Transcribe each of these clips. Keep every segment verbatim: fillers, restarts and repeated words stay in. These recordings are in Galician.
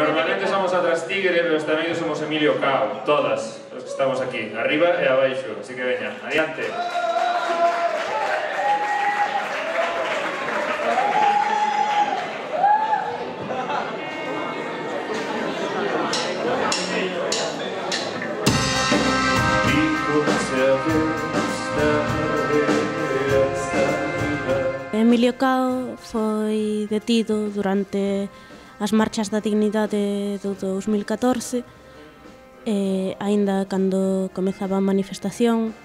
Normalmente somos a Trastigre, pero esta vez somos Emilio Cao, todas os que estamos aquí, arriba e abaixo, así que veña, adiante. Emilio Cao foi detido durante as marchas da dignidade do dos mil catorce, e, aínda cando comezaba a manifestación,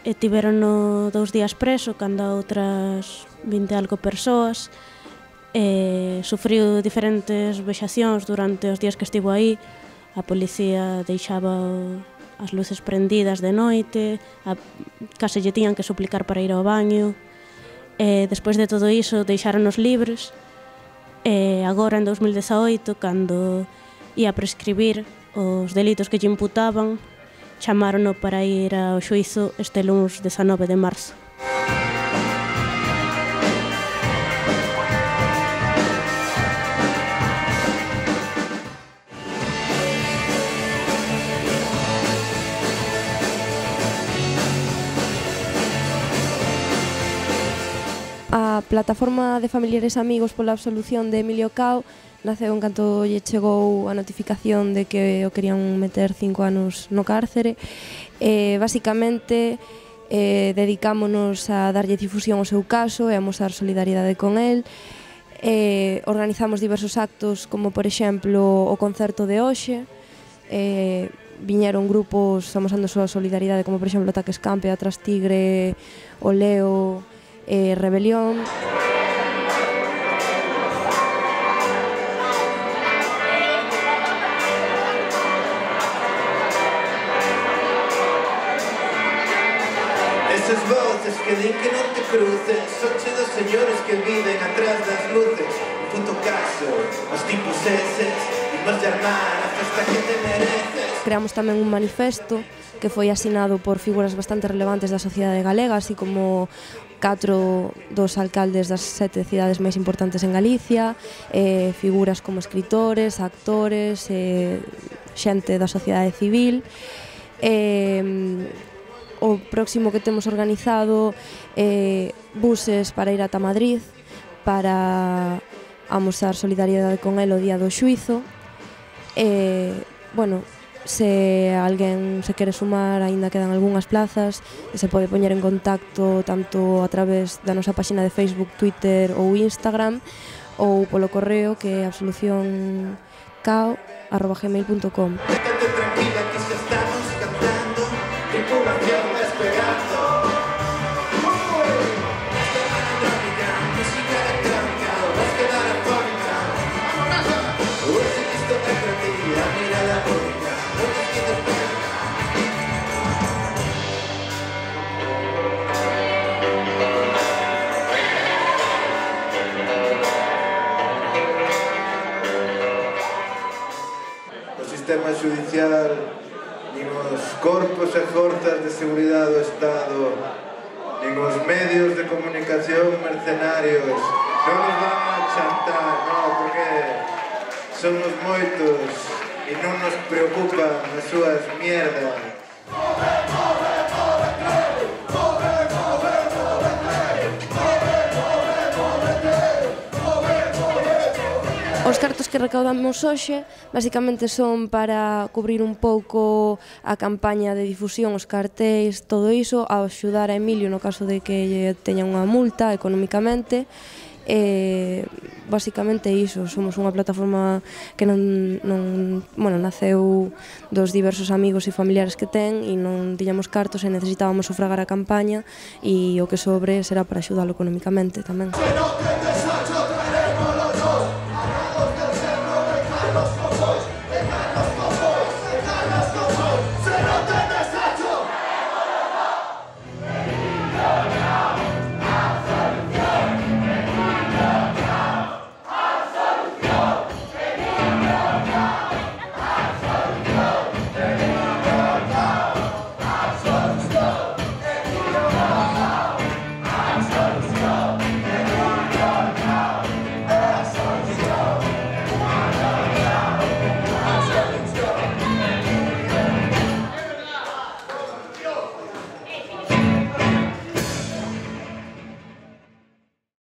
e tiverono dous días preso, cando a outras vinte e algo persoas, e sufriu diferentes vexacións durante os días que estivo aí. A policía deixaba as luces prendidas de noite, a, case lle tiñan que suplicar para ir ao baño. E despois de todo iso deixáronos libres, e agora en dos mil dezaoito, cando ia prescribir os delitos que lle imputaban, chamárono para ir ao xuízo este luns dezanove de marzo. A plataforma de familiares e amigos pola absolución de Emilio Cao naceu en canto lle chegou a notificación de que o querían meter cinco anos no cárcere. E, basicamente, eh, dedicámonos a darlle difusión ao seu caso e a mostrar solidariedade con el. E, organizamos diversos actos, como, por exemplo, o concerto de hoxe. E, viñeron grupos amosando a súa solidariedade, como, por exemplo, Ataque Escampe, a Trastigre, o Leo, e Rebelión. Esas voces que din que non te cruces son che dos señores que viven atrás das luces. En puto caso, os tipos eses imos llamar a festa que te mereces. Creamos tamén un manifesto que foi asinado por figuras bastante relevantes da sociedade galega, así como catro dos alcaldes das sete cidades máis importantes en Galicia, eh, figuras como escritores, actores, eh, xente da sociedade civil. Eh, o próximo que temos organizado eh, buses para ir ata Madrid para amosar solidariedade con el o día do xuízo. Eh, bueno, se alguén se quere sumar, aínda quedan algunhas plazas e se pode poñer en contacto tanto a través da nosa páxina de Facebook, Twitter ou Instagram, ou polo correo que é absolución cao arroba gmail punto com. Estate tranquila que xa estamos cantando, tripulación despegando. Música electrónica, vas quedar afónica. Hoxe isto é para ti, a mirada única. O sistema judicial, nin os corpos e forzas de seguridade do Estado, nin os medios de comunicación mercenarios non nos van a chantar, non, porque somos moitos e non nos preocupan as súas mierdas. Os cartos que recaudamos hoxe basicamente son para cubrir un pouco a campaña de difusión, os cartéis, todo iso, a axudar a Emilio no caso de que teña unha multa economicamente. E basicamente iso, somos unha plataforma que non, non, bueno, naceu dos diversos amigos e familiares que ten e non tiñamos cartos e necesitábamos sufragar a campaña e o que sobre será para axudalo economicamente tamén.